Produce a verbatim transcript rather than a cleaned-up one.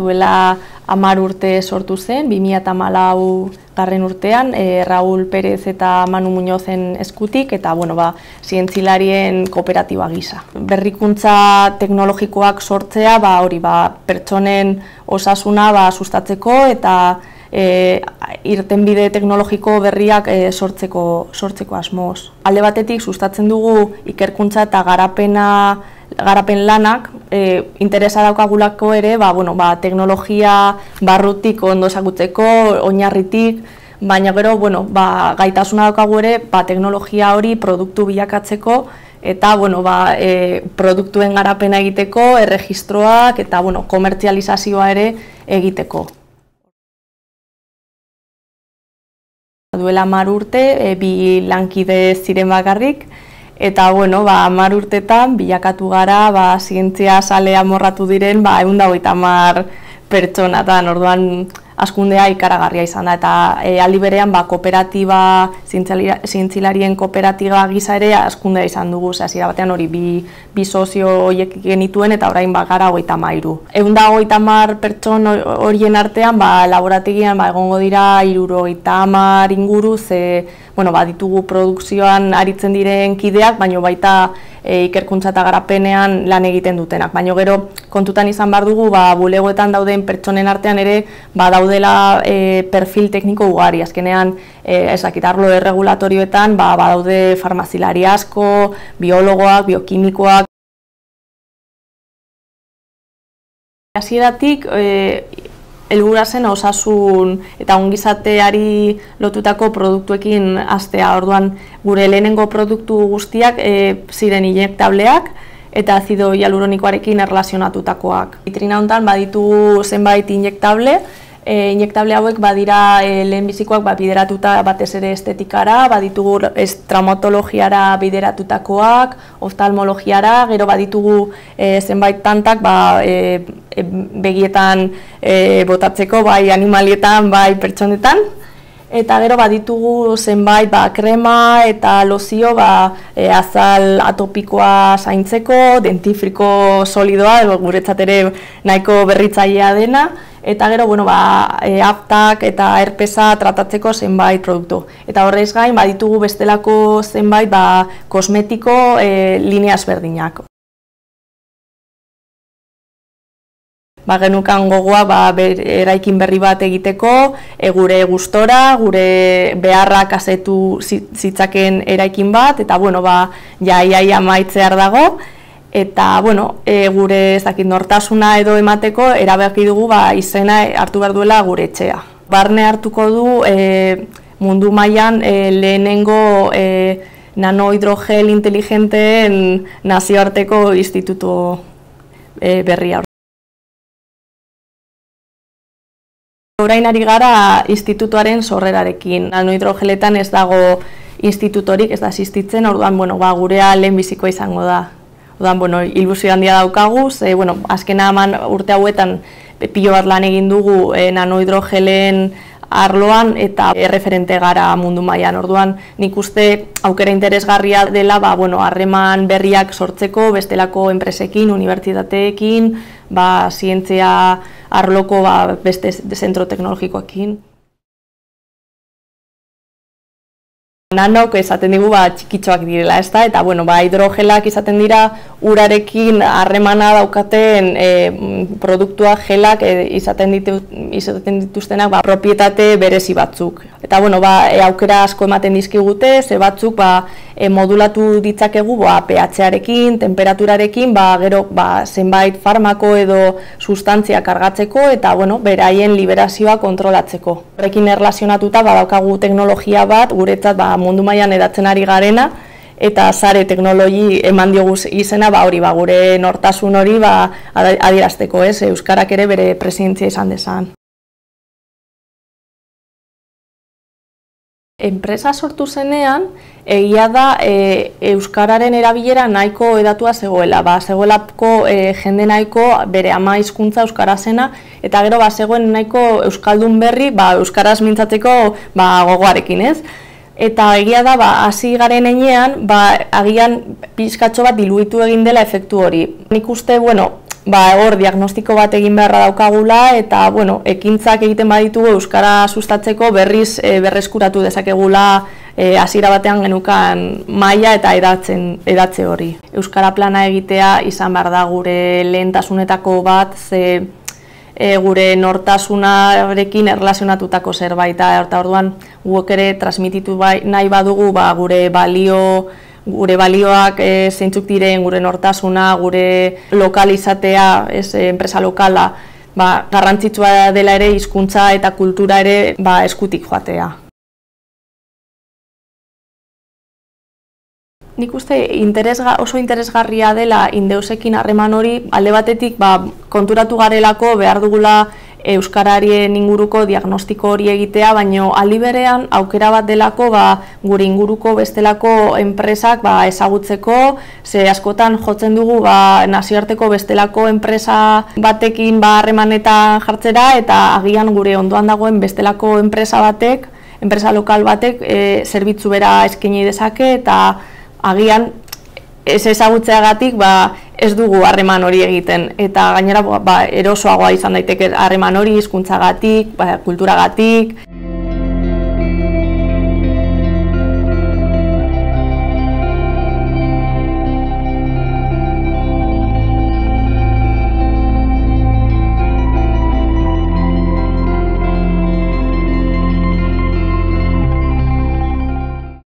duela hamar urte sortu zen, bi mila hamalau garren urtean, e, Raúl Pérez eta Manu Muñozen eskutik, eta bueno, ba, zientzilarien kooperatiba gisa. Berrikuntza teknologikoak sortzea, ba, hori, ba, pertsonen osasuna ba, sustatzeko eta e, irtenbide teknologiko berriak e, sortzeko, sortzeko asmoz. Alde batetik sustatzen dugu ikerkuntza eta garapena garapen lanak, e, interesa daukagulako ere, ba, bueno, ba, teknologia barrutik ondo ezagutzeko, oinarritik, baina gero, bueno, ba, gaitasuna daukagu ere, ba, teknologia hori produktu bilakatzeko, eta bueno, ba, e, produktuen garapena egiteko, erregistroak eta bueno, komertzializazioa ere egiteko. Duela hamar urte, e, bi lankide ziren bakarrik, eta bueno, ba, hamar urtetan bilakatu gara, ba, zientzia zale amorratu diren, ba, ehun eta hogeita hamar pertsonatan, orduan hazkundea ikaragarria izan da, eta e, aldi berean ba, kooperatiba, zientzilarien kooperatiba gisa ere hazkundea izan dugu, hasiera batean hori bi, bi sozio horiek genituen eta orain ba, gara hogeita hamairu. ehun eta hogeita hamar pertson horien artean, ba, laborategian ba, egongo dira hirurogeita hamar inguru, ze bueno, ba, ditugu produkzioan aritzen diren kideak, baina baita e, ikerkuntza eta garapenean lan egiten dutenak. Baina gero kontutan izan behar dugu, ba, bulegoetan dauden pertsonen artean ere ba, daudela e, perfil tekniko ugari. Azkenean, e, ezakit, arlo erregulatorioetan ba, ba, daude farmazilari asko, biologoak, biokimikoak. Hasieratik, e, helburua zen osasun eta ongizateari lotutako produktuekin hastea. Orduan gure lehenengo produktu guztiak e, ziren injektableak eta azido hialuronikoarekin erlazionatutakoak. Vitrina honetan baditugu zenbait injektable, e, injektable hauek badira e, lehenbizikoak ba, bideratuta batez ere estetikara, baditugu traumatologiara bideratutakoak, oftalmologiara, gero baditugu e, zenbait tantak ba, e, begietan e, botatzeko, bai animalietan, bai pertsonetan. Eta gero baditugu zenbait ba, krema eta lozio ba, e, azal atopikoa zaintzeko, dentifriko solidoa, guretzat ere nahiko berritzailea dena. Eta gero, bueno, ba, e, aftak eta herpesa tratatzeko zenbait produktu. Eta horrez gain, baditugu bestelako zenbait ba, kosmetiko e, linea ezberdinak. Ba, genukan gogoa ba, ber, eraikin berri bat egiteko, e, gure gustora, gure beharrak asetu zitzaken eraikin bat, eta bueno, ba, jaiaia amaitzear dago, eta bueno, e, gure ez dakit, nortasuna edo emateko erabaki dugu ba, izena hartu behar duela gure etxea. Barne hartuko du e, mundu mailan e, lehenengo e, nanohidrogel inteligenteen nazioarteko institutu e, berria. Orain ari gara institutuaren sorrerarekin. Nanohidrogeletan ez dago institutorik, ez da existitzen, orduan bueno, ba, gurea lehenbizikoa izango da. Orduan, bueno, ilusio handia daukagu, ze, bueno, azkena eman urte hauetan pilo bat lan egin dugu e, nanohidrogelen arloan eta erreferente gara mundu mailan. Orduan, nik uste aukera interesgarria dela, ba, bueno, harreman berriak sortzeko bestelako enpresekin, unibertsitateekin, ba, zientzia arloko ba, beste zentro teknologikoekin. Nanok esaten digu ba, txikitxoak direla, ezta? Eta bueno, ba, hidrogelak izaten dira urarekin harremana daukaten e, produktuak gelak e, izaten, ditu, izaten dituztenak ba, propietate berezi batzuk. Eta bueno, ba, e, aukera asko ematen dizkigute, ze batzuk ba, e, modulatu ditzakegu ba, pH-arekin, temperaturarekin, ba, gero ba, zenbait farmako edo sustantzia kargatzeko eta bueno, beraien liberazioa kontrolatzeko. Horrekin erlazionatuta ba, daukagu teknologia bat, guretzat ba, mundu mailan edatzen ari garena, eta sare teknologi eman diogu izena, ba, hori, ba, gure nortasun hori ba, adierazteko, ez, euskarak ere bere presentzia izan dezan. Enpresa sortu zenean, egia da e, euskararen erabilera nahiko edatua zegoela, ba, zegoelako e, jende nahiko bere ama hizkuntza euskara zena, eta gero ba, zegoen nahiko euskaldun berri ba, euskaraz mintzatzeko ba, gogoarekin, ez? Eta egia da, ba, hasi garen heinean, ba, agian pixkatxo bat diluitu egin dela efektu hori. Nik uste, bueno, ba, hor diagnostiko bat egin beharra daukagula eta bueno, ekintzak egiten baditugu euskara sustatzeko berriz e, berreskuratu dezakegula hasiera e, batean genukan maila eta edatzen edatze hori. Euskara plana egitea izan behar da gure lehentasunetako bat, ze e, gure nortasunarekin erlazionatutako zerbait, eta orduan guk ere transmititu bai, nahi badugu ba, gure balio gure balioak e, zeintzuk diren, gure nortasuna, gure lokalizatea, ez, enpresa lokala, ba, garrantzitsua dela ere hizkuntza eta kultura ere ba, eskutik joatea. Nik uste interesga, oso interesgarria dela Indeusekin harreman hori, alde batetik ba, konturatu garelako behar dugula euskararien inguruko diagnostiko hori egitea, baino aldi berean aukera bat delako ba, gure inguruko bestelako enpresak ba, ezagutzeko, ze askotan jotzen dugu ba, nazioarteko bestelako enpresa batekin ba, harremanetan jartzera, eta agian gure ondoan dagoen bestelako enpresa batek, enpresa lokal batek e, zerbitzu bera eskaini dezake, eta agian ez ezagutzeagatik ba, ez dugu harreman hori egiten, eta gainera ba, erosoagoa izan daiteke harreman hori hizkuntzagatik, ba, kulturagatik,